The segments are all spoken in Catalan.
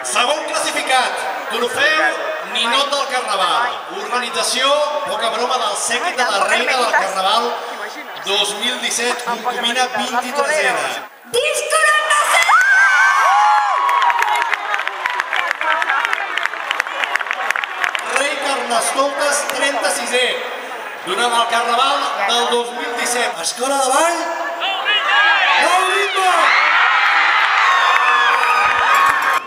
Segon classificat, trofeu Ninot del Carnaval. Organització, poca broma, del Sèquit de la Reina del Carnaval 2017, concubina 23ena. Disco 96! Rei Carnestoltes 36è, durant el Carnaval del 2017. Escola de Ball, Nou Ritme!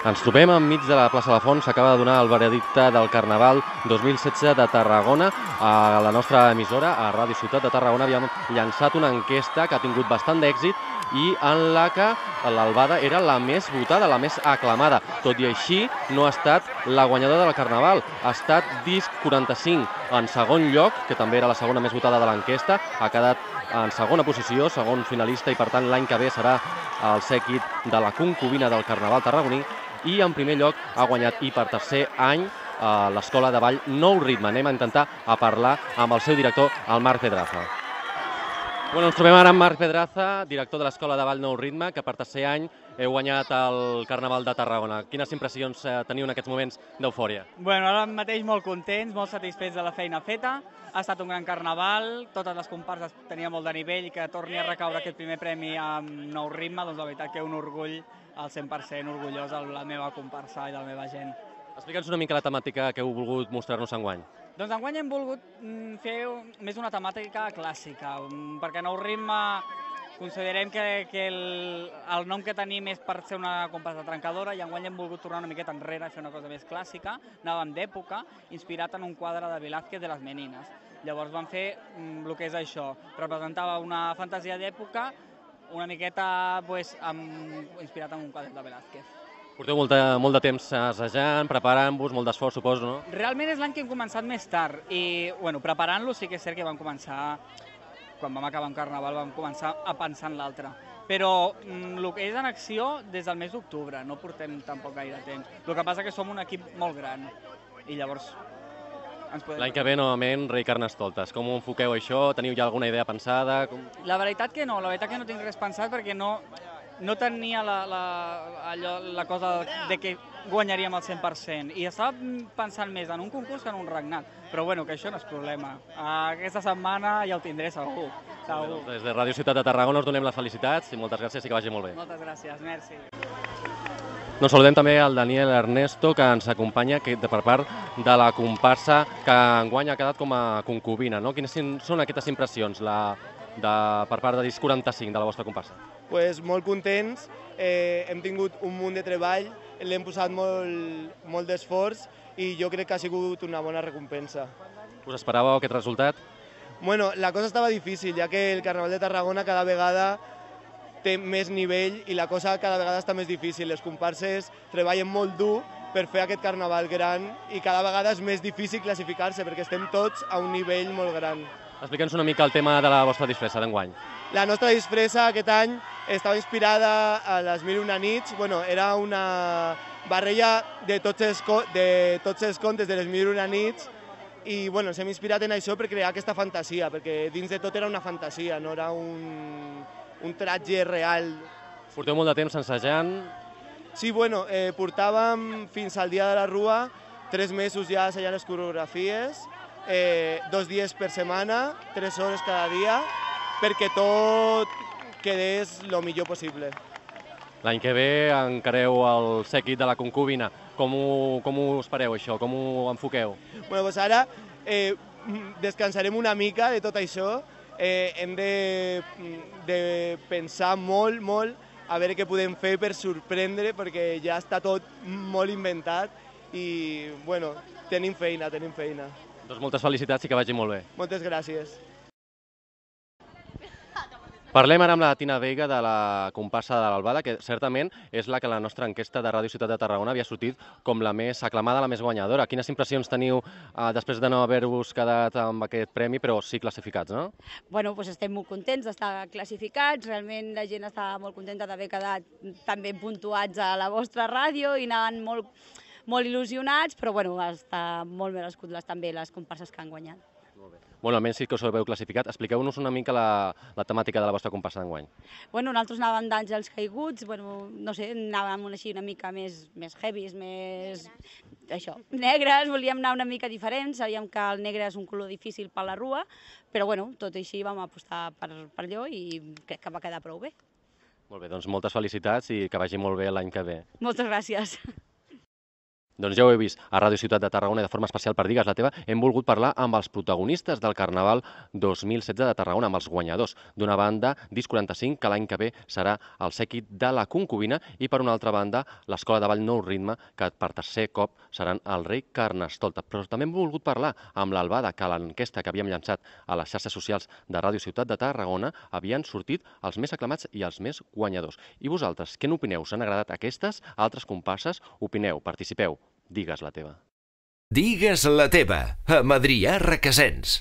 Ens trobem enmig de la plaça de la Font. S'acaba de donar el veredicte del Carnaval 2016 de Tarragona. A la nostra emissora, a Ràdio Ciutat de Tarragona, havíem llançat una enquesta que ha tingut bastant d'èxit i en la que l'Albada era la més votada, la més aclamada. Tot i així, no ha estat la guanyadora del Carnaval. Ha estat Disc 45 en segon lloc, que també era la segona més votada de l'enquesta. Ha quedat en segona posició, segon finalista, i per tant l'any que ve serà el Sèquit de la concubina del Carnaval tarragoní. I en primer lloc ha guanyat, i per tercer any, l'Escola de Ball Nou Ritme. Anem a intentar parlar amb el seu director, el Marc Pedraza. Ens trobem ara amb Marc Pedraza, director de l'Escola de Ball Nou Ritme, que per tercer any heu guanyat el Carnaval de Tarragona. Quines impressions teniu en aquests moments d'eufòria? Ara mateix molt contents, molt satisfets de la feina feta. Ha estat un gran carnaval, totes les comparses tenien molt de nivell, i que torni a recaure aquest primer premi amb Nou Ritme, doncs la veritat que un orgull al 100% orgullós de la meva comparsa i de la meva gent. Explica'ns una mica la temàtica que heu volgut mostrar-nos enguany. Doncs enguany hem volgut fer més una temàtica clàssica, perquè Nou Ritme considerem que el nom que tenim és per ser una comparsa trencadora, i enguany hem volgut tornar una miqueta enrere i fer una cosa més clàssica. Anàvem d'època, inspirat en un quadre de Velázquez de les Meninas. Llavors vam fer el que és això, representava una fantasia d'època, una miqueta inspirat en un quadre de Velázquez. Porteu molt de temps assajant, preparant-vos, molt d'esforç, suposo, no? Realment és l'any que hem començat més tard, i preparant-lo sí que és cert que vam començar, quan vam acabar un carnaval vam començar a pensar en l'altre. Però el que és en acció des del mes d'octubre, no portem tampoc gaire temps. El que passa que som un equip molt gran, i llavors ens podem... L'any que ve, novament, Rei Carnestoltes. Com ho enfoqueu això? Teniu ja alguna idea pensada? La veritat que no tinc res pensat, perquè no tenia la cosa de que guanyaríem el 100%, i estava pensant més en un concurs que en un regnat, però bueno, que això no és problema. Aquesta setmana ja ho tindré segur. Des de Ràdio Ciutat de Tarragona us donem les felicitats i moltes gràcies i que vagi molt bé. Moltes gràcies, merci. Saludem també el Daniel Ernesto, que ens acompanya per part de la comparsa que enguany ha quedat com a concubina. Quines són aquestes impressions per part de Disc 45 de la vostra comparsa? Molt contents, hem tingut un munt de treball, l'hem posat molt d'esforç, i jo crec que ha sigut una bona recompensa. Us esperàveu aquest resultat? La cosa estava difícil, ja que el Carnaval de Tarragona cada vegada té més nivell i la cosa cada vegada està més difícil. Les comparses treballen molt dur per fer aquest carnaval gran, i cada vegada és més difícil classificar-se perquè estem tots a un nivell molt gran. Explica'ns una mica el tema de la vostra disfressa d'enguany. La nostra disfressa aquest any estava inspirada a les Mil i una nits. Era una barreja de tots els contes de les Mil i una nits, i ens hem inspirat en això per crear aquesta fantasia, perquè dins de tot era una fantasia, no era un tratge real. Porteu molt de temps ensajant? Sí, portàvem fins al dia de la Rua 3 mesos ja assajant les coreografies, 2 dies per setmana, 3 hores cada dia, perquè tot quedés el millor possible. L'any que ve encareu el Sèquit de la concubina. Com ho espereu, això? Com ho enfoqueu? Ara descansarem una mica de tot això. Hem de pensar molt a veure què podem fer per sorprendre, perquè ja està tot molt inventat, i tenim feina. Doncs moltes felicitats i que vagi molt bé. Moltes gràcies. Parlem ara amb la Tina Veiga, de la comparsa de l'Albada, que certament és la que a la nostra enquesta de Ràdio Ciutat de Tarragona havia sortit com la més aclamada, la més guanyadora. Quines impressions teniu després de no haver-vos quedat amb aquest premi, però sí classificats, no? Estem molt contents d'estar classificats, realment la gent està molt contenta d'haver quedat tan ben puntuats a la vostra ràdio i anaven molt il·lusionats, però està molt merescut també les comparses que han guanyat. Bueno, almenys sí que us heu classificat. Expliqueu-nos una mica la temàtica de la vostra comparsa d'enguany. Bueno, nosaltres anàvem d'Àngels Caiguts, bueno, no sé, anàvem així una mica més heavies, més... això, negres, volíem anar una mica diferents, sabíem que el negre és un color difícil per la rua, però bueno, tot i així vam apostar per allò i crec que va quedar prou bé. Molt bé, doncs moltes felicitats i que vagi molt bé l'any que ve. Moltes gràcies. Doncs ja ho he vist, a Ràdio Ciutat de Tarragona, de forma especial per Digues la teva, hem volgut parlar amb els protagonistes del Carnaval 2016 de Tarragona, amb els guanyadors. D'una banda, Disc 45, que l'any que ve serà el sèquit de la concubina, i per una altra banda, l'Escola de Ball Nou Ritme, que per tercer cop seran el rei Carnestolta. Però també hem volgut parlar amb l'Albada, que a l'enquesta que havíem llançat a les xarxes socials de Ràdio Ciutat de Tarragona havien sortit els més aclamats i els més guanyadors. I vosaltres, què n'opineu? Us han agradat aquestes? Altres comparses? Opineu, participeu. Digues la teva. Digues la teva, amb Adrià Requesens.